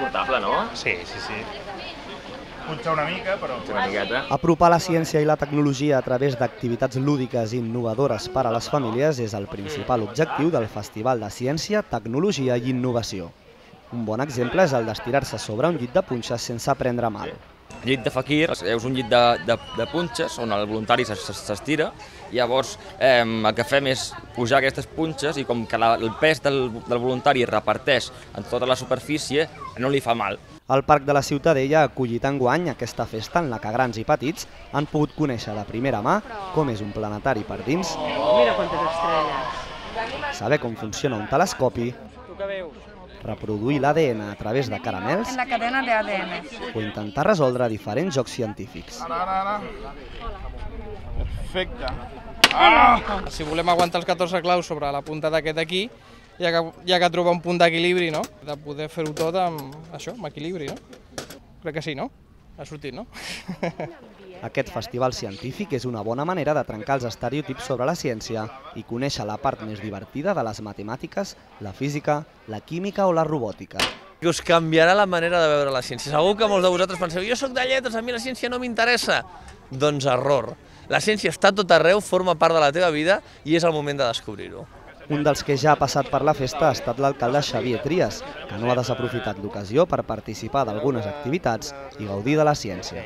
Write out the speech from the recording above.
portable, no? Sí, sí, sí. Potser una mica, però... Una miqueta. Apropar la ciència i la tecnologia a través d'activitats lúdiques i innovadores per a les famílies és el principal objectiu del Festival de Ciència, Tecnologia i Innovació. Un bon exemple és el d'estirar-se sobre un llit de punxes sense prendre mal. El llit de fakir és un llit de punxes on el voluntari s'estira i llavors el que fem és pujar aquestes punxes i com que el pes del voluntari es reparteix en tota la superfície no li fa mal. El Parc de la Ciutadella ha acollit enguany aquesta festa en la que grans i petits han pogut conèixer de primera mà com és un planetari per dins, Mira quantes estrelles. saber com funciona un telescopi, reproduir l'ADN a través de caramels En la cadena de ADN. o intentar resoldre diferents jocs científics. Ara. Perfecte. Si volem aguantar els 14 claus sobre la punta d'aquest aquí, hi ha que trobar un punt d'equilibri, no? De poder fer-ho tot amb això, amb equilibri, no? Crec que sí, no? Ha sortit, no? Aquest festival científic és una bona manera de trencar els estereotips sobre la ciència i conèixer la part més divertida de les matemàtiques, la física, la química o la robòtica. Que us canviarà la manera de veure la ciència. Segur que molts de vosaltres penseu, jo sóc de lletres, a mi la ciència no m'interessa. Doncs error. La ciència està a tot arreu, forma part de la teva vida i és el moment de descobrir-ho. Un dels que ja ha passat per la festa ha estat l'alcalde Xavier Trias, que no ha desaprofitat l'ocasió per participar d'algunes activitats i gaudir de la ciència.